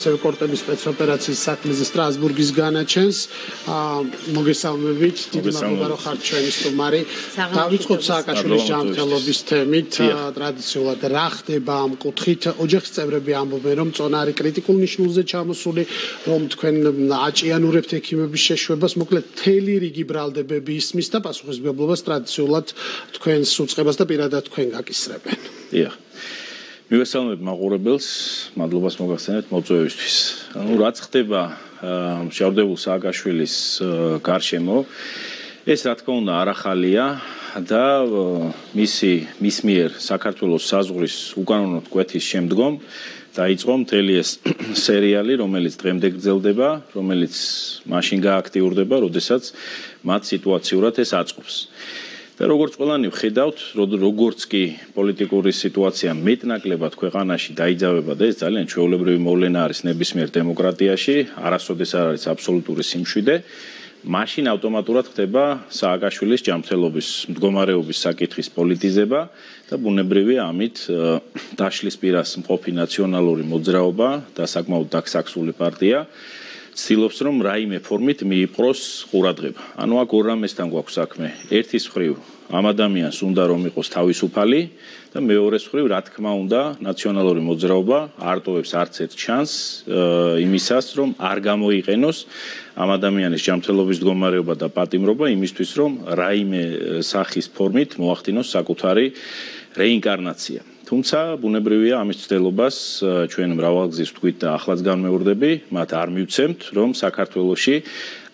კორტების სპეცოპერაციის საქმეზე სტრასბურგის განაჩენს მოგესალმებით დიდი მადლობა რომ ხართ ჩვენი სტუმარი დავიწყოთ სააკაშვილის ჯანმრთელობის თემით ტრადიციულად რა ხდება ამ კუთხით ოჯახის წევრები ამბობენ რომ წონარი კრიტიკულ ნიშნულზე ჩამოსული რომ თქვენ აჭიანურებთ ექიმების შეშვებას მოკლედ მთელი რიგი ბრალდებები ისმის და პასუხისმგებლობას ტრადიციულად თქვენს უწყებას და პირადად თქვენ გაკისრებენ დიახ მივესალმებ მაყურებელს, მადლობას მოგახსენებთ მოწვევისთვის. რაც ხდება მშავდებულ სააკაშვილის გარშემო, ეს რა თქმა უნდა არ ახალია და მის მიერ საქართველოს საზღვრის უკანონო კვეთის შემდგომ დაიწყო მთელი ეს სერიალი, რომელიც დღემდე გრძელდება, რომელიც მაშინ გააქტიურდება, როდესაც მათ სიტუაციურად ეს აწყობს. და როგორც ყველანი ვხედავთ, როგორც კი პოლიტიკური სიტუაცია მეტნაკლებად ქვეყანაში დაიძაბება და ეს ძალიან ჩვეულებრივი მოვლენა არის ნებისმიერ დემოკრატიაში, არასოდეს არ არის აბსოლუტური სიმშვიდე, მაშინ ავტომატურად ხდება სააკაშვილის ჯანმრთელობის მდგომარეობის საკითხის პოლიტიზება და ბუნებრივია ამით დაშლის პირას მყოფი ნაციონალური მოძრაობა და საკმაოდ დაქსაქსული პარტია ცდილობს რომ რაიმე ფორმით მიიპყროს ყურადღება. ანუ აქ ორ რამესთან გვაქვს საქმე. ერთის მხრივ ამ ადამიანს უნდა რომ იყოს თავისუფალი და მეორეს მხრივ რა თქმა უნდა ნაციონალური მოძრაობა არ ტოვებს არც ერთ ჩანს იმისას რომ არ გამოიყენოს ამ ადამიანის ჯანმრთელობის მდგომარეობა და პატიმრობა იმისთვის რომ რაიმე სახის ფორმით მოახდინოს საკუთარი რეინკარნაცია. თუმცა ბუნებრივია ამის ცდელობას ჩვენ მრავალგზის ვთქვით და ახლაც განმეორდები, მათ არ მივცემთ, რომ საქართველოში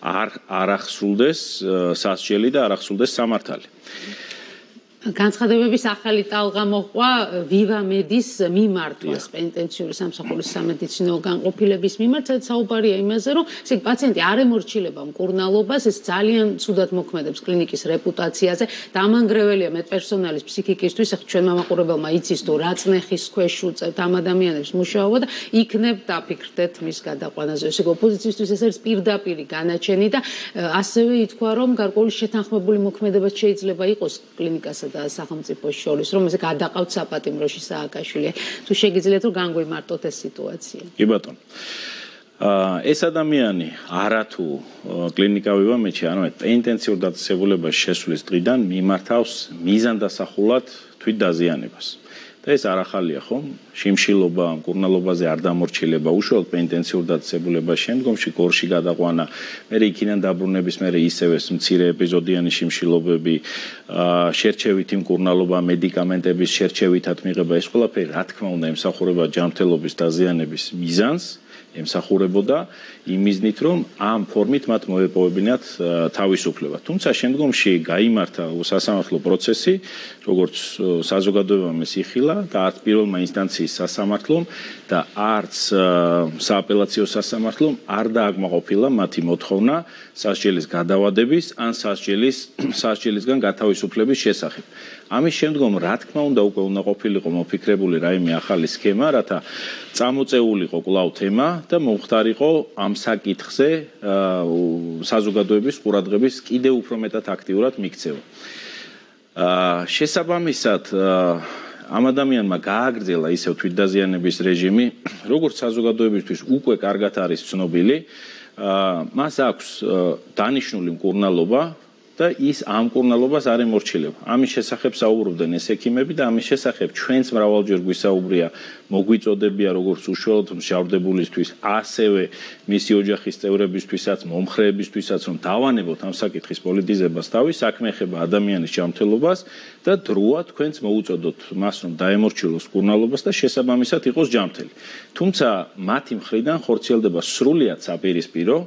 არ ახსრულდეს სასჯელი და არ ახსრულდეს სამართალი. განცხადებების ახალი ტალღა მოჰყვა ვივამედის მიმართვას პენიტენციური სამსახურის სამედიცინო განყოფილების მიმართ, სადაც საუბარია იმაზე, რომ ესე პაციენტი არ ემორჩილება მკურნალობას, ეს ძალიან ცუდად მოქმედებს კლინიკის რეპუტაციაზე და ამანგრეველია მედპერსონალის ფსიქიკისთვის, ახლა ჩვენ მამაყურებელმა იცის თუ რა წნეხის ქვეშ უწევთ ამ ადამიანებს მუშაობა და იქნებ დაფიქრდეთ მის გადაყვანაზე. ესე ოპოზიციისთვის ეს არის პირდაპირი განაჩენი და ასევე ითქვა, რომ გარკვეული შეთანხმებული მოქმედება შეიძლება იყოს კლინიკასა და სახელმწიფოს შორის, რომ ესე გადაყავთ საპატიმროში სააკაშვილი. თუ შეგიძლიათ რომ განგვიმარტოთ ეს სიტუაცია. კი ბატონო. ეს ადამიანი არათუ კლინიკა ვივამედში, ანუ პენიტენციურ დაწესებულებაში შესვლის დღიდან მიმართავს მიზანდასახულად თვით დაზიანებას. და ეს არ ახალია ხომ? შიმშილობა, მკურნალობაზე არ დამორჩილება, უშუალოდ პენიტენციურ დაწესებულებას შემდგომში გორში გადაყვანა, მერე იქიდან დაბრუნების მერე ისევე მცირე ეპიზოდიანი შიმშილობები, შერჩევითი მკურნალობა, მედიკამენტების შერჩევითად მიღება, ეს ყველაფერი რა თქმა უნდა ემსახურება ჯანმრთელობის დაზიანების მიზანს. ემსახურებოდა იმ მიზნით, რომ ამ ფორმით მათ მოეპოვებინათ თავისუფლება. თუმცა შემდგომში გაიმართა სასამართლო პროცესი, როგორც საზოგადოებამ ეს იხილა და არც პირველმა ინსტანციის სასამართლომ და არც სააპელაციო სასამართლომ არ დააკმაყოფილა მათი მოთხოვნა სასჯელის გადავადების ან სასჯელისგან გათავისუფლების შესახებ. ამის შემდგომ რა თქმა უნდა უკვე უნდა ყოფილიყო მოფიქრებული რაიმე ახალი სქემა, რათა წამოწეულიყო კვლავ თემა და მომხდარიყო ამ საკითხზე საზოგადოების ყურადღების კიდევ უფრო მეტად აქტიურად მიქცევა. შესაბამისად ამ ადამიანმა გააგრძელა ისევ თვითდაზიანების რეჟიმი, როგორც საზოგადოებისთვის უკვე კარგად არის ცნობილი, მას აქვს დანიშნული მკურნალობა და ის ამ მკურნალობას არ ემორჩილება. ამის შესახებ საუბრობდნენ ეს ექიმები და ამის შესახებ ჩვენც მრავალჯერ გვისაუბრია, მოგვიწოდებია როგორც უშუალოდ მშავდებულისთვის, ასევე მისი ოჯახის წევრებისთვისაც, მომხრეებისთვისაც, რომ დავანებოთ ამ საკითხის პოლიტიზებას თავი, საქმე ეხება ადამიანის ჯანმრთელობას და დროა თქვენც მოუწოდოთ მას, რომ დაემორჩილოს მკურნალობას და შესაბამისად იყოს ჯანმრთელი. თუმცა მათი მხრიდან ხორციელდება სრულიად საპირისპირო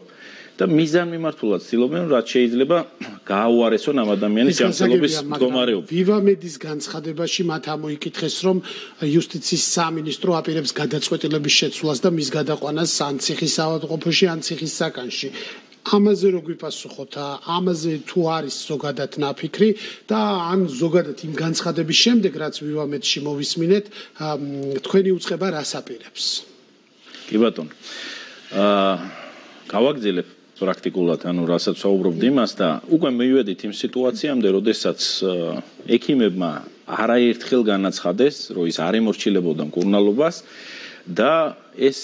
და მიზანმიმართულად ცდილობენ, რაც შეიძლება გააუარესონ ამ ადამიანის ჯანმრთელობის მდგომარეობა. ვივამედის განცხადებაში მათ ამოიკითხეს, რომ იუსტიციის სამინისტრო აპირებს გადაწყვეტილების შეცვლას და მის გადაყვანას ან ციხის ავადმყოფოში, ან ციხის საკანში. ამაზე რო გვიპასუხოთ, ამაზე თუ არის ზოგადად ნაფიქრი და ან ზოგადად იმ განცხადების შემდეგ, რაც ვივამედში მოვისმინეთ, თქვენი უწყება რას აპირებს? კი ბატონო. გავაგრძელებ პრაქტიკულად, ანუ რასაც საუბრობთ იმას და უკვე მივედით იმ სიტუაციამდე, როდესაც ექიმებმა არაერთხელ განაცხადეს, რომ ის არ ემორჩილებოდა მკურნალობას და ეს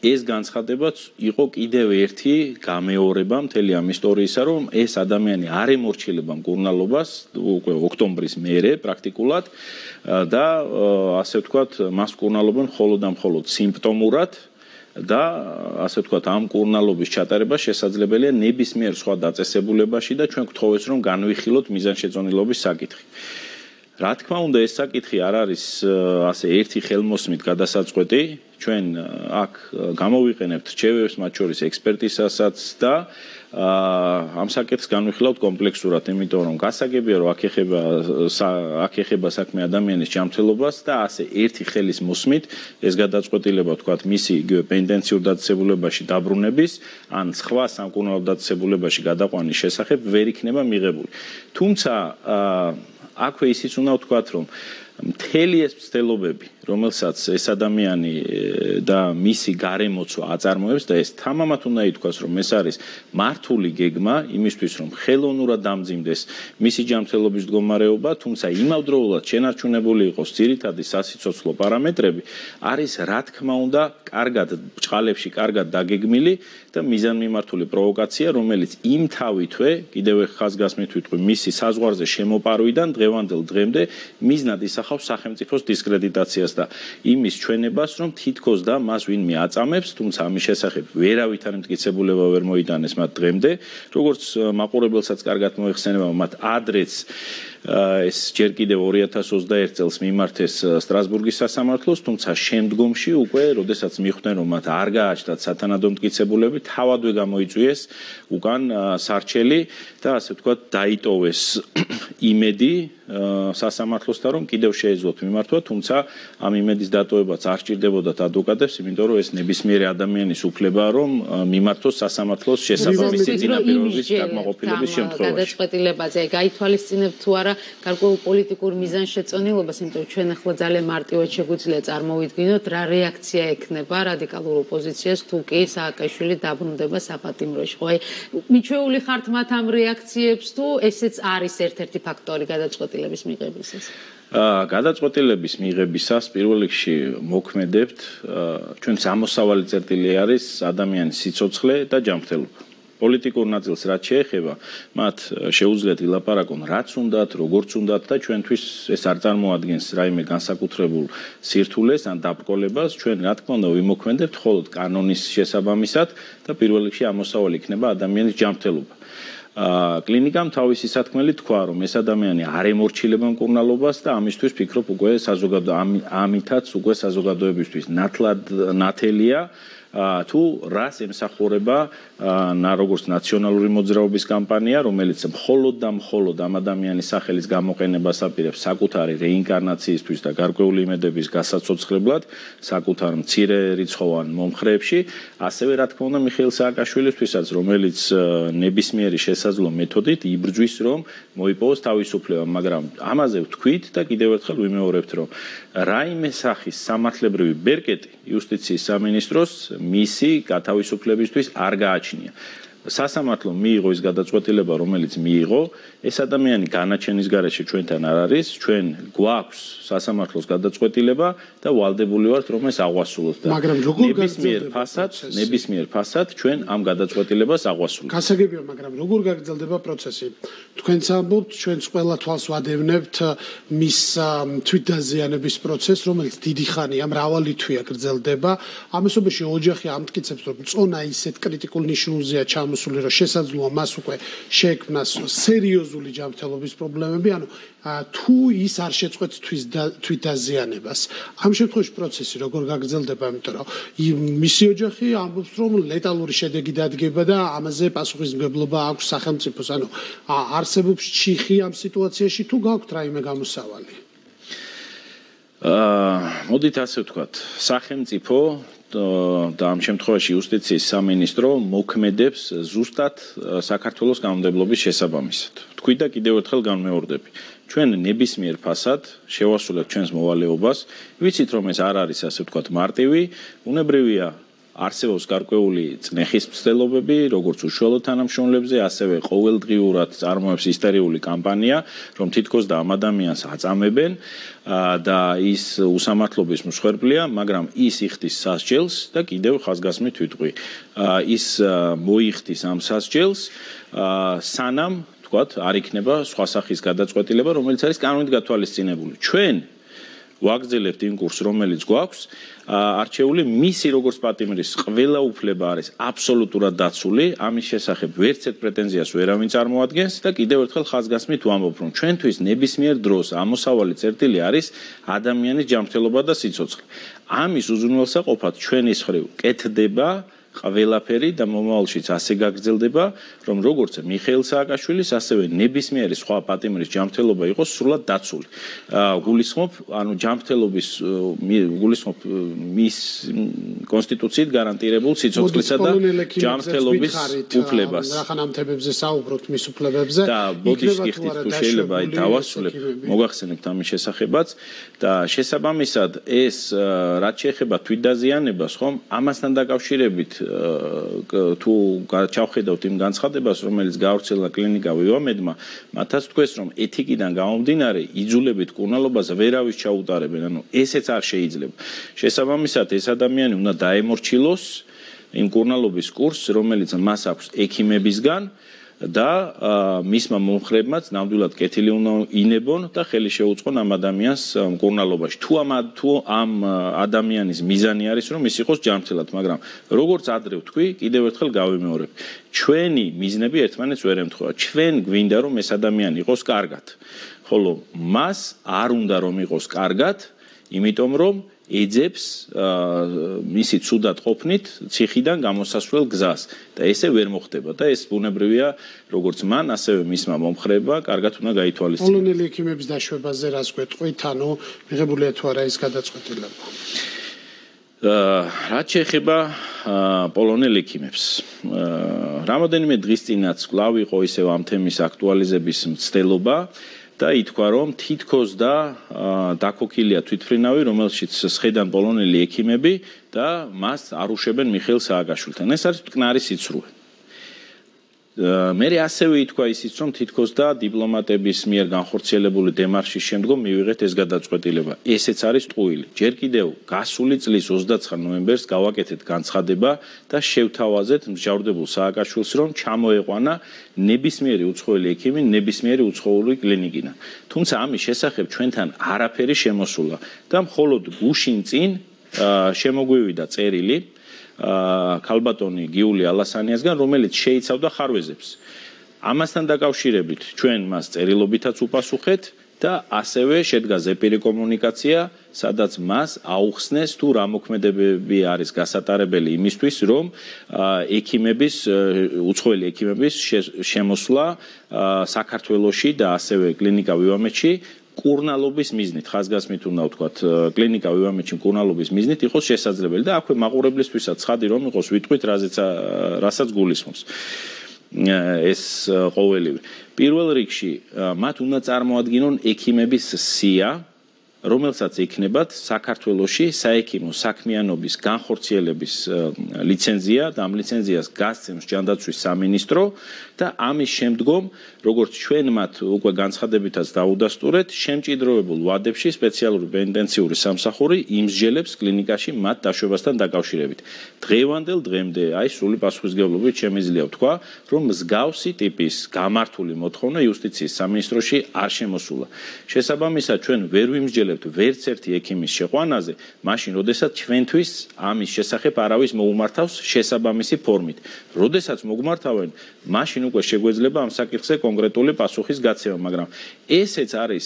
ეს განცხადებაც იყო კიდევ ერთი გამეორება მთელი ამ ისტორიისა, რომ ეს ადამიანი არ ემორჩილება მკურნალობას უკვე ოქტომბრის მერე პრაქტიკულად და ასე ვთქვათ, მას მკურნალობენ მხოლოდ და მხოლოდ სიმპტომურად და ასე ვთქვათ, ამ მკურნალობის ჩატარება შესაძლებელია ნებისმიერ სხვა დაწესებულებაში და ჩვენ გვთხოვეს, რომ განვიხილოთ მიზანშეწონილობის საკითხი. რა თქმა უნდა, ეს საკითხი არ არის ასე ერთი ხელმოსმით გადასაწყვეტი. ჩვენ აქ გამოვიყენებთ რჩევებს, მათ შორის ექსპერტიზასაც და ამ საკითხს განვიხილავთ კომპლექსურად, იმიტომ რომ გასაგებია, რომ აქ ეხება საქმე ადამიანის ჯანმრთელობას და ასე ერთი ხელის მოსმით ეს გადაწყვეტილება, ვთქვათ, მისი იგივე პენტენციურ დაწესებულებაში დაბრუნების ან სხვა სამკურნალო დაწესებულებაში გადაყვანის შესახებ ვერ იქნება მიღებული. თუმცა აქვე ისიც უნდა ვთქვათ, რომ მთელი ეს მცდელობები, რომელსაც ეს ადამიანი და მისი გარემოცვა აწარმოებს და ეს თამამად უნდა ითქვას, რომ ეს არის მართული გეგმა იმისთვის, რომ ხელოვნურად დამძიმდეს მისი ჯანმრთელობის მდგომარეობა, თუმცა იმავდროულად შენარჩუნებული იყოს ძირითადი სასიცოცხლო პარამეტრები, არის რა თქმა უნდა კარგად ბჭყალებში კარგად დაგეგმილი და მიზანმიმართული პროვოკაცია, რომელიც იმთავითვე, კიდევ ხაზგასმით ვიტყვი, მისი საზღვარზე შემოპარვიდან დღევანდელ დღემდე მიზნად ისახავს სახელმწიფოს დისკრედიტაციას და იმის ჩვენებას, რომ თითქოს და მას ვინმე აწამებს, თუმცა ამის შესახებ ვერავითარ მტკიცებულება ვერ მოიტანეს მათ დღემდე, როგორც მაყურებელსაც კარგად მოიხსენება, მათ ადრეც ეს ჯერ კიდევ 2021 წელს მიმართეს სტრასბურგის სასამართლოს, თუმცა შემდგომში უკვე, როდესაც მიხვდნენ, რომ მათ არ გააჩნდათ სათანადო მტკიცებულები, თავადვე გამოიწვიეს უკან სარჩელი და ასე ვთქვათ, დაიტოვეს იმედი სასამართლოსთან, რომ კიდევ შეეძლოთ მიმართვა, თუმცა ამ იმედის დატოვებაც არ სჭირდებოდათ ადვოკატებს, იმიტომ რომ ეს ნებისმიერი ადამიანის უფლებაა, რომ მიმართოს სასამართლოს შესაბამისი წინაპირობების დაკმაყოფილების შემთხვევაში. გადაწყვეტილებაზე გაითვალისწინებთ თუ არა გარკვეულ პოლიტიკურ მიზანშეწონილობას, იმიტომ რომ ჩვენ ახლა ძალიან მარტივად შეგვიძლია წარმოვიდგინოთ, რა რეაქცია ექნება რადიკალურ ოპოზიციას თუ კი სააკაშვილი დაბრუნდება საპატიმროში. ხო, აი მიჩვეული ხართ მათ ამ რეაქციებს თუ ესეც არის ერთ-ერთი ფაქტორი გადაწყვეტილების მიღებისას? გადაწყვეტილების მიღებისას პირველ რიგში მოქმედებთ, ჩვენს ამოსავალი წერტილი არის ადამიანის სიცოცხლე და ჯანმრთელობა. პოლიტიკურ ნაწილს რაც შეეხება, მათ შეუძლიათ ვილაპარაკონ რაც უნდათ, როგორც უნდათ და ჩვენთვის ეს არ წარმოადგენს რაიმე განსაკუთრებულ სირთულეს ან დაბრკოლებას, ჩვენ რა თქმა უნდა ვიმოქმედებთ მხოლოდ კანონის შესაბამისად და პირველ რიგში ამოსავალი იქნება ადამიანის ჯანმრთელობა. კლინიკამ თავისი სათქმელი თქვა, რომ ეს ადამიანი არ ემორჩილება მკურნალობას და ამისთვის ფიქრობ უკვე ამითაც უკვე საზოგადოებისთვის ნათელია თუ რას ემსახურება როგორც ნაციონალური მოძრაობის კამპანია, რომელიც მხოლოდ და მხოლოდ ამ ადამიანის სახელის გამოყენებას აპირებს საკუთარი რეინკარნაციისთვის და გარკვეული იმედების გასაცოცხლებლად, საკუთარ მცირე რიცხოვან მომხრეებში, ასევე რა თქმა უნდა მიხეილ სააკაშვილისთვისაც, რომელიც ნებისმიერი შესაძლო მეთოდით იბრძვის, რომ მოიპოვოს თავისუფლება, მაგრამ ამაზე ვთქვით და კიდევ ერთხელ ვიმეორებთ, რომ რაიმე სახის სამართლებრივი ბერკეტი იუსტიციის სამინისტროს მისი გათავისუფლებისთვის არ გააჩნია. სასამართლო მიიღო ის გადაწყვეტილება, რომელიც მიიღო, ეს ადამიანი განაჩენის გარეშე ჩვენთან არ არის, ჩვენ გვაქვს სასამართლოს გადაწყვეტილება და ვალდებული ვართ, რომ ეს აღვასრულოთ და ნებისმიერ ფასად ჩვენ ამ გადაწყვეტილებას აღვასრულებთ. გასაგებია, მაგრამ როგორ გაგრძელდება პროცესი? თქვენც ამბობთ, ჩვენც ყველა თვალს ვადევნებთ მის თვითდაზიანების პროცესს, რომელიც დიდი ხანია, მრავალი თვეა გრძელდება. ამასობაში ოჯახი ამტკიცებს, რომ წონა ისეთ კრიტიკულ ნიშნულზეა ჩამოსული, რომ შესაძლოა მას უკვე შეექმნას სერიოზული ჯანმრთელობის პრობლემები, ანუ თუ ის არ შეწყვეტს თვითდაზიანებას. ამ შემთხვევაში პროცესი როგორ გაგრძელდება, იმიტომ რომ მისი ოჯახი ამბობს, რომ ლეტალური შედეგი დადგება და ამაზე პასუხისმგებლობა აქვს სახელმწიფოს. ანუ არსებობს ჩიხი ამ სიტუაციაში თუ გაქვთ რაიმე გამოსავალი? მოდით ასე ვთქვათ, სახელმწიფო და ამ შემთხვევაში იუსტიციის სამინისტრო მოქმედებს ზუსტად საქართველოს კანონმდებლობის შესაბამისად. თქვი და კიდევ ერთხელ განმეორდები. ჩვენ ნებისმიერ ფასად შევასრულებთ ჩვენს მოვალეობას, ვიცით რომ ეს არ არის ასე ვთქვათ მარტივი, უნებრივია არსებობს გარკვეული წნეხის მცდელობები, როგორც უშუალო თანამშრომლებზე, ასევე ყოველდღიურად წარმოებს ისტერიული კამპანია, რომ თითქოს და ამ ადამიანს აწამებენ და ის უსამართლობის მსხვერპლია, მაგრამ ის იხდის სასჯელს და კიდევ ხაზგასმით ვიტყვი, ის მოიხდის ამ სასჯელს სანამ თქვათ არ იქნება სხვა სახის გადაწყვეტილება, რომელიც არის კანონით გათვალისწინებული. ჩვენ ვაგრძელებთ იმ კურსს, რომელიც გვაქვს, არჩეული მისი როგორც პატიმრის ყველა უფლება არის აბსოლუტურად დაცული, ამის შესახებ ვერცერთ პრეტენზიას ვერავინ წარმოადგენს და კიდევ ერთხელ ხაზგასმით ვამბობ, რომ ჩვენთვის ნებისმიერ დროს ამოსავალი წერტილი არის ადამიანის ჯანმრთელობა და სიცოცხლე. ამის უზრუნველსაყოფად ჩვენის მხრივ კეთდება ყველაფერი და მომავალშიც ასე გაგრძელდება, რომ როგორც მიხეილ სააკაშვილის, ასევე ნებისმიერი სხვა პატიმრის ჯანმრთელობა იყოს სრულად დაცული. გულისხმობ, ანუ ჯანმრთელობის გულისხმობ მის კონსტიტუციით გარანტირებულ სიცოცხლისა და ჯანმრთელობის უფლებას. რახანამთებებზე საუბრობთ მის უფლებებზე. და ბოდიშს გიხდით თუ შეიძლება დავასრულებ, მოგახსენებთ ამის შესახებაც და შესაბამისად ეს რაც შეეხება თვითდაზიანებას, ხომ, ამასთან დაკავშირებით თუ ჩავხედავთ იმ განცხადებას, რომელიც გავრცელა კლინიკა ვივამედმა, მათაც თქვეს, რომ ეთიკიდან გამომდინარე იძულებით კურნალობას ვერავის ჩაუტარებენ, ანუ ესეც არ შეიძლება. შესაბამისად, ეს ადამიანი უნდა დაემორჩილოს იმ კურნალობის კურსს, რომელიც მას აქვს ექიმებისგან და მისმა მომხრებმაც ნამდვილად კეთილი უნდა ინებონ და ხელი შეუწყონ ამ ადამიანს მკურნალობაში. თუ ამ ადამიანის მიზანი არის, რომ ის იყოს ჯანმრთელად, მაგრამ როგორც ადრე ვთქვი, კიდევ ერთხელ გავიმეორებ. ჩვენი მიზნები ერთმანეთს ვერ ემთხვევა. ჩვენ გვინდა, რომ ეს ადამიანი იყოს კარგად. ხოლო მას არ უნდა რომ იყოს კარგად, იმიტომ რომ ეძებს მისი ცუდად ყოფნით ციხიდან გამოსასვლელ გზას და ესე ვერ მოხდება და ეს ბუნებრივია როგორც მან ასევე მისმა მომხრეებმა კარგად უნდა გაითვალისწინოს. პოლონელი ექიმების დაშვებაზე რას გვეტყვით, ანუ მიღებულია თუ არა ის გადაწყვეტილება? რაც შეეხება პოლონელ ექიმებს, რამოდენიმე დღის წინაც კვლავ იყო ისევ ამ თემის აქტუალიზების მცდელობა და ითქვა, რომ თითქოს და დაქოქილია თვითმფრინავი, რომელშიც სხედან პოლონელი ექიმები და მას არუშებენ მიხეილ სააკაშვილთან. ეს არის მტკნარი სიცრუე. მე ასევე ითქვა ისიც, რომ თითქოს და დიპლომატების მიერ განხორციელებული დემარშის შემდგომ მივიღეთ ეს გადაწყვეტილება. ესეც არის ტყუილი. ჯერ კიდევ გასული წლის 29 ნოემბერს გავაკეთეთ განცხადება და შევთავაზეთ მსჯავრდებულ სააკაშვილს, რომ ჩამოეყვანა ნებისმიერი უცხოელი ექიმი ნებისმიერი უცხოური კლინიკიდან. თუმცა ამის შესახებ ჩვენთან არაფერი შემოსულა და მხოლოდ გუშინ წინ შემოგვივიდა წერილი ქალბატონი გიული ალასანიასგან, რომელიც შეიცავდა ხარვეზებს. ამასთან დაკავშირებით ჩვენ მას წერილობითაც უპასუხეთ და ასევე შედგა ზეპირი კომუნიკაცია, სადაც მას აუხსნეს თუ რა მოქმედებები არის გასატარებელი იმისთვის, რომ უცხოელი ექიმების შემოსვლა საქართველოში და ასევე კლინიკა ვივამედში კურნალობის მიზნით, ხაზგასმით უნდა ვთქვათ, კლინიკა ვივამედში კურნალობის მიზნით იყოს შესაძლებელი და აქვე მაყურებლისთვისაც ცხადი რომ იყოს ვიტყვით, რასაც გულისხმობს ეს ყოველივე. პირველ რიგში მათ უნდა წარმოადგინონ ექიმების სია, რომელსაც ექნებათ საქართველოში საექიმო საქმიანობის განხორციელების ლიცენზია და ამ ლიცენზიას გასცემს ჯანდაცვის სამინისტრო და ამის შემდგომ, როგორც ჩვენ მათ უკვე განცხადებითაც დაუდასტურეთ, შემჭიდროებულ ვადებში სპეციალური პენიტენციური სამსახური იმსჯელებს კლინიკაში მათ დაშვებასთან დაკავშირებით. დღევანდელ დღემდე, აი სრული პასუხისმგებლობით შემიძლია ვთქვა, რომ მსგავსი ტიპის გამართული მოთხოვნა იუსტიციის სამინისტროში არ შემოსულა. შესაბამისად, ჩვენ ვერ ვიმსჯელებთ ვერც ერთი ექიმის შეყვანაზე, მაშინ, როდესაც ჩვენთვის ამის შესახებ არავის მოუმართავს შესაბამისი ფორმით. როდესაც მოგმართავენ, მაშინ უკვე შეგვეძლება ამ საკითხზე კონკრეტული პასუხის გაცემა, მაგრამ ესეც არის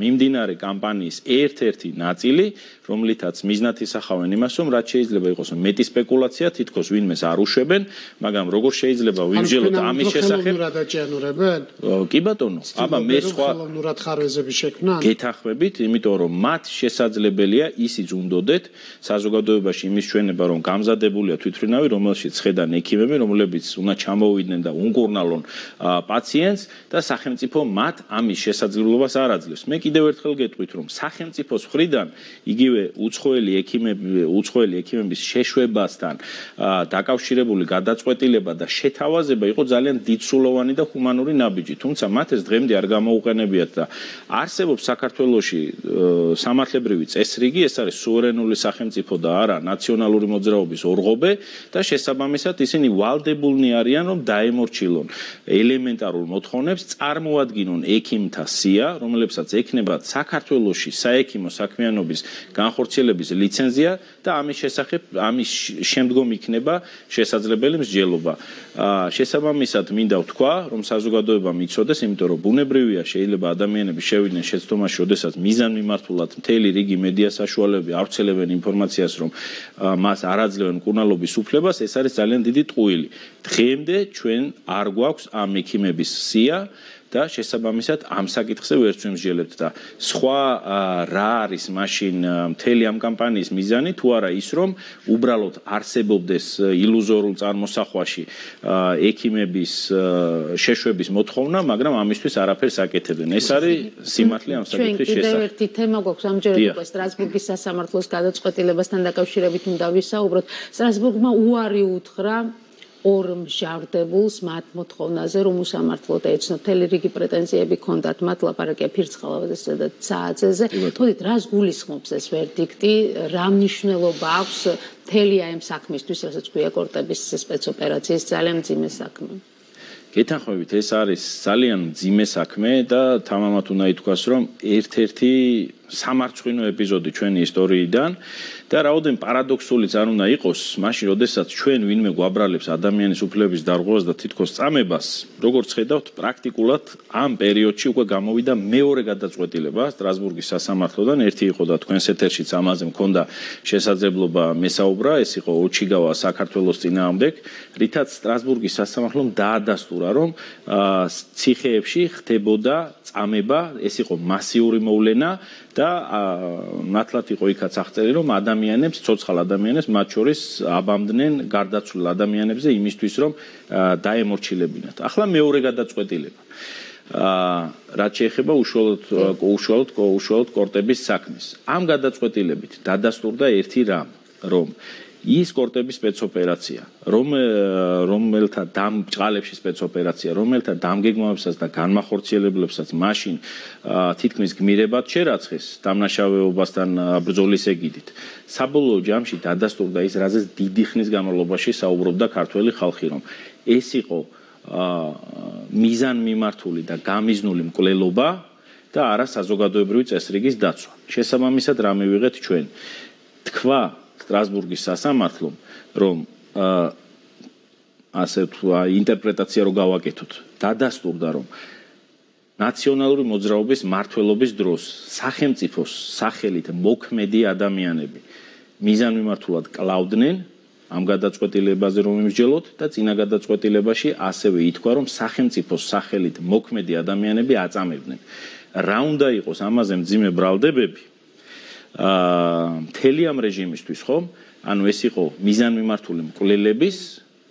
მიმდინარე კამპანიის ერთ-ერთი ნაწილი, რომლითაც მიზნად ისახავენ იმას, რომ რაც შეიძლება იყოს მეტი სპეკულაცია, თითქოს ვინმეს არ უშვებენ, მაგრამ როგორ შეიძლება ვიმსჯელოთ ამის შესახებ? კი ბატონო, აბა მე სხვა ხელოვნურად ხარვეზები შექმნან? გეთახმებით, იმიტომ იმიტომ რომ მათ შესაძლებელია ისიც უნდოდეთ საზოგადოებაში იმის ჩვენება რომ გამზადებულია თვითმფრინავი რომელშიც ხედან ექიმები რომლებიც უნდა ჩამოვიდნენ და უნკურნალონ პაციენტს და სახელმწიფო მათ ამის შესაძლებლობას არ აძლევს. მე კიდევ ერთხელ გეტყვით რომ სახელმწიფოს მხრიდან იგივე უცხოელი ექიმების შეშვებასთან დაკავშირებული გადაწყვეტილება და შეთავაზება იყო ძალიან დიდსრულოვანი და ჰუმანური ნაბიჯი. თუმცა მათ ეს დღემდე არ გამოუყენებიათ და არსებობს საქართველოში სამართლებრივი წესრიგი, ეს არის სუვერენული სახელმწიფო და არა ნაციონალური მოძრაობის ორღობე და შესაბამისად ისინი ვალდებულნი არიან რომ დაემორჩილონ ელემენტარულ მოთხოვნებს, წარმოადგინონ ექიმთა სია, რომლებსაც ექნება საქართველოში საექიმო საქმიანობის განხორციელების ლიცენზია და ამის შესახებ ამის შემდგომ იქნება შესაძლებელი მსჯელობა. შესაბამისად მინდა ვთქვა, რომ საზოგადოებამ იცოდეს, იმიტომ რომ ბუნებრივია შეიძლება ადამიანები შევიდნენ შეცდომაში, როდესაც მიზანმიმართულად მთელი რიგი მედია საშუალებები ავრცელებენ ინფორმაციას, რომ მას არ აძლევენ მკურნალობის უფლებას, ეს არის ძალიან დიდი ტყუილი. დღემდე ჩვენ არ გვაქვს ამ ექიმების სია და შესაბამისად ამ საკითხზე ვერც ვიმსჯელებთ და სხვა რა არის მაშინ მთელი ამ კამპანიის მიზანი თუ არა ის რომ უბრალოდ არსებობდეს ილუზორულ წარმოსახვაში ექიმების შეშვების მოთხოვნა, მაგრამ ამისთვის არაფერს აკეთებენ. ეს არის სიმართლე ამ საკითხის შესახებ. კიდევ ერთი თემა გვაქვს ამჯერად უკვე სტრასბურგის სასამართლოს გადაწყვეტილებასთან დაკავშირებით უნდა ვისაუბროთ. სტრასბურგმა უარი უთხრა ორ მჟავრდებულს მათ მოთხოვნაზე რომ უსამართლოდ ეცნო მთელი რიგი პრეტენზიები ჰქონდათ მათ ლაპარაკია ფირცხალავაზესა და ცააძეზე. მოდით რას გულისხმობს ეს ვერდიქტი, რა მნიშვნელობა აქვს მთელი ამ საქმისთვის, რასაც ქვია კორტების სპეცოპერაციის ძალიან მძიმე საქმე. გეთანხმებით, ეს არის ძალიან მძიმე საქმე და თამამად უნდა ითქვას, რომ ერთ-ერთი სამარცხვინო ეპიზოდი ჩვენი ისტორიიდან და რაოდენ პარადოქსულიც არ უნდა იყოს, მაშინ როდესაც ჩვენ ვინმე გვაბრალებს ადამიანის უფლების დარღვევას და თითქოს წამებას, როგორც ხედავთ, პრაქტიკულად ამ პერიოდში უკვე გამოვიდა მეორე გადაწყვეტილება სტრასბურგის სასამართლოდან, ერთი იყო და თქვენს ეთერშიც ამაზე მქონდა შესაძლებლობა მესაუბრა, ეს იყო ოჩიგავა საქართველოს წინააღმდეგ, რითაც სტრასბურგის სასამართლომ დაადასტურა, რომ ციხეებში ხდებოდა წამება, ეს იყო მასიური მოვლენა და ნათლად იყო იქაც აღწერილი, რომ ადამიანებს, ცოცხალ ადამიანებს, მათ შორის აბამდნენ გარდაცვლილ ადამიანებზე იმისთვის, რომ დაემორჩილებინათ. ახლა მეორე გადაწყვეტილება. რაც შეეხება უშუალოდ კორტების საქმეს. ამ გადაწყვეტილებით დადასტურდა ერთი რამ, რომ ის კორტების სპეცოპერაცია, რომელთა ბჭყალებში სპეცოპერაცია, რომელთა დამგეგმავებსაც და განმახორციელებლებსაც მაშინ თითქმის გმირებად შერაცხეს დამნაშავეობასთან ბრძოლის ეგიდით. საბოლოო ჯამში დადასტურდა ის, რაზეც დიდი ხნის განმავლობაში საუბრობდა ქართველი ხალხი, რომ ეს იყო მიზანმიმართული და გამიზნული მკვლელობა და არა საზოგადოებრივი წესრიგის დაცვა. შესაბამისად, რა მივიღეთ ჩვენ? თქვა სტრასბურგის სასამართლომ, რომ ასე ინტერპრეტაცია რო გავაკეთოთ, დადასტურდა, რომ ნაციონალური მოძრაობის მმართველობის დროს სახელმწიფოს სახელით მოქმედი ადამიანები მიზანმიმართულად კლავდნენ ამ გადაწყვეტილებაზე რომ იმსჯელოთ და წინა გადაწყვეტილებაში ასევე ითქვა, რომ სახელმწიფოს სახელით მოქმედი ადამიანები აწამებდნენ. რა უნდა იყოს ამაზე მძიმე ბრალდებები? მთელი ამ რეჟიმისთვის, ხო? ანუ ეს იყო მიზანმიმართული მკვლელების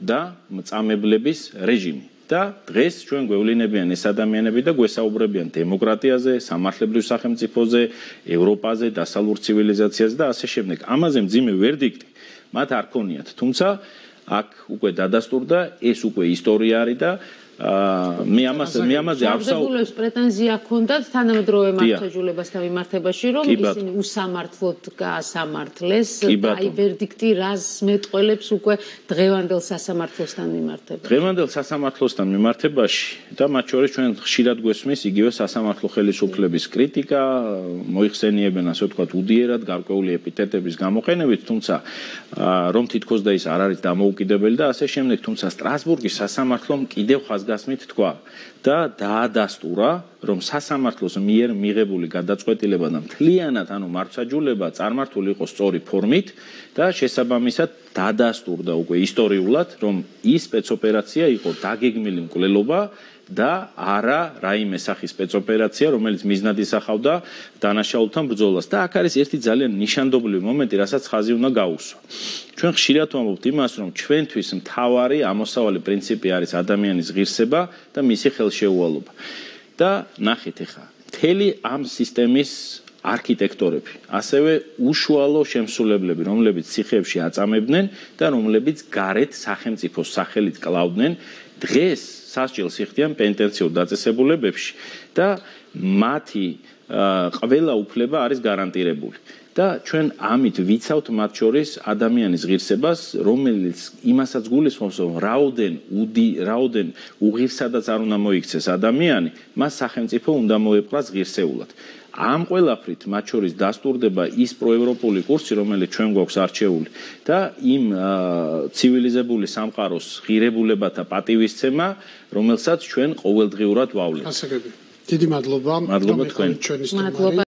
და მწამებლების რეჟიმი. და დღეს ჩვენ გვევლინებიან ეს ადამიანები და გვესაუბრებიან დემოკრატიაზე, სამართლებრივ სახელმწიფოზე, ევროპაზე, დასავლურ ცივილიზაციაზე და ასე შემდეგ. ამაზე მძიმე ვერდიქტი მათ არ ქონიათ. თუმცა აქ უკვე დადასტურდა, ეს უკვე ისტორია არის და მე ამაზე არ ვსაუბრობ. პრეტენზია ჰქონდათ თანამედროვე მართლმსაჯულებასთან მიმართებაში, რომ ისინი უსამართლოდ გაასამართლეს და აი ვერდიქტი რას მეტყველებს უკვე დღევანდელ სასამართლოსთან მიმართებაში. დღევანდელ სასამართლოსთან მიმართებაში და მათ შორის ჩვენ ხშირად გვესმის იგივე სასამართლო ხელისუფლების კრიტიკა, მოიხსენიებენ ასე ვთქვათ უდიერად გარკვეული ეპითეტების გამოყენებით, თუმცა რომ თითქოს და ის არ არის დამოუკიდებელი და ასე შემდეგ, თუმცა სტრასბურგის სასამართლომ კიდევ ხაზგასმით თქვა და დაადასტურა, რომ სასამართლოს მიერ მიღებული გადაწყვეტილება და მთლიანად ანუ მართლმსაჯულება წარმართული იყო სწორი ფორმით და შესაბამისად დადასტურდა უკვე ისტორიულად, რომ ის სპეცოპერაცია იყო დაგეგმილი მკვლელობა და არა რაიმე სახის სპეცოპერაცია, რომელიც მიზნად ისახავდა დანაშაულთან ბრძოლას. და აქ არის ერთი ძალიან ნიშანდობლივი მომენტი, რასაც ხაზი უნდა გაუსვა. ჩვენ ხშირად ვამბობთ იმას, რომ ჩვენთვის მთავარი ამოსავალი პრინციპი არის ადამიანის ღირსება და მისი ხელშეუვალობა. და ნახეთ ახლა, მთელი ამ სისტემის არქიტექტორები, ასევე უშუალო შემსრულებლები, რომლებიც ციხეებში აწამებდნენ და რომლებიც გარეთ სახელმწიფოს სახელით კლავდნენ, დღეს სასჯელს იხდიან პენტენციურ დაწესებულებებში და მათი ყველა უფლება არის გარანტირებული. და ჩვენ ამით ვიცავთ მათ შორის ადამიანის ღირსებას, რომელიც იმასაც გულისხმობს, რომ რაოდენ უღირსადაც არ უნდა მოიქცეს ადამიანი, მას სახელმწიფო უნდა მოეპყრას ღირსეულად. ამ ყველაფრით მათ შორის დასტურდება ის პროევროპული კურსი, რომელიც ჩვენ გვაქვს არჩეული და იმ ცივილიზებული სამყაროს ღირებულებათა პატივისცემა, რომელსაც ჩვენ ყოველდღიურად ვავლენთ. ასაგები. დიდი მადლობა. მადლობა თქვენ. ჩვენი სტუმარი.